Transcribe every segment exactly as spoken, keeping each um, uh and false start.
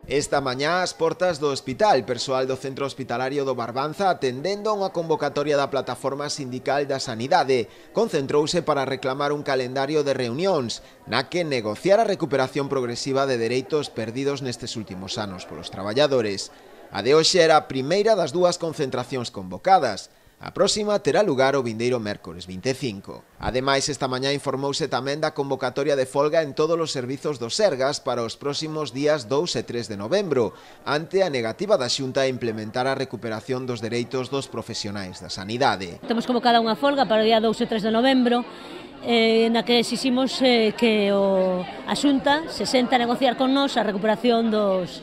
Esta mañá, ás portas do hospital, persoal do Centro Hospitalario do Barbanza, atendendo a unha convocatoria da Plataforma Sindical da Sanidade, concentrouse para reclamar un calendario de reunións, na que negociar a recuperación progresiva de dereitos perdidos nestes últimos anos polos traballadores. A de hoxe era a primeira das dúas concentracións convocadas. A próxima terá lugar o vindeiro mércores vinte e cinco. Ademais, esta mañá informouse tamén da convocatoria de folga en todos os servizos do Sergas para os próximos días dous e tres de novembro, ante a negativa da Xunta a implementar a recuperación dos dereitos dos profesionais da sanidade. Temos convocada unha folga para o día dous e tres de novembro, eh, na que exiximos eh, que o, a Xunta se senta a negociar con nós a recuperación dos,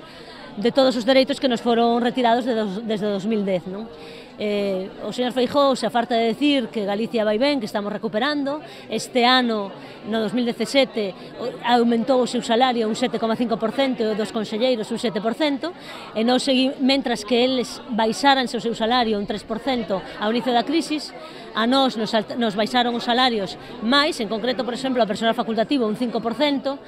de todos os dereitos que nos foron retirados de dos, desde dos mil dez, non? Eh, o señor Feijóo se afarta de decir que Galicia vai ben, que estamos recuperando. Este ano, no dos mil dezasete, aumentou o seu salario un sete coma cinco por cento e o dos conselleiros un sete por cento, e non segui, mentras que eles baixaranse o seu salario un tres por cento ao inicio da crisis, a nós nos, nos baixaron os salarios máis, en concreto, por exemplo, a persoal facultativo un cinco por cento,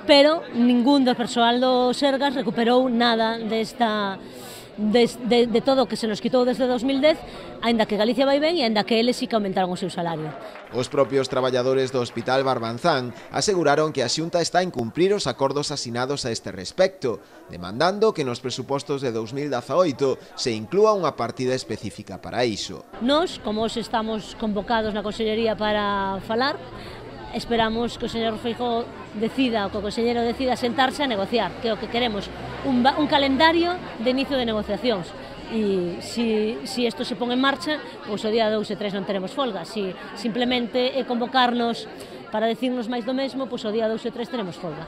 pero ningún do persoal do Sergas recuperou nada desta... De, de, de todo o que se nos quitou desde dos mil dez, aínda que Galicia vai ben e aínda que eles sí que aumentaron o seu salario. Os propios traballadores do Hospital Barbanzán aseguraron que a Xunta está a incumprir os acordos asinados a este respecto, demandando que nos presupostos de dos mil dezaoito se inclúa unha partida específica para iso. Nós, como hoxe estamos convocados na Consellería para falar, esperamos que o señor Feijóo decida, o que o conselleiro decida sentarse a negociar, que é o que queremos, un, un calendario de inicio de negociacións. E se si, si isto se pon en marcha, pois o día dous e tres non teremos folga. Se simplemente é convocarnos para decirnos máis do mesmo, pois o día dous e tres teremos folga.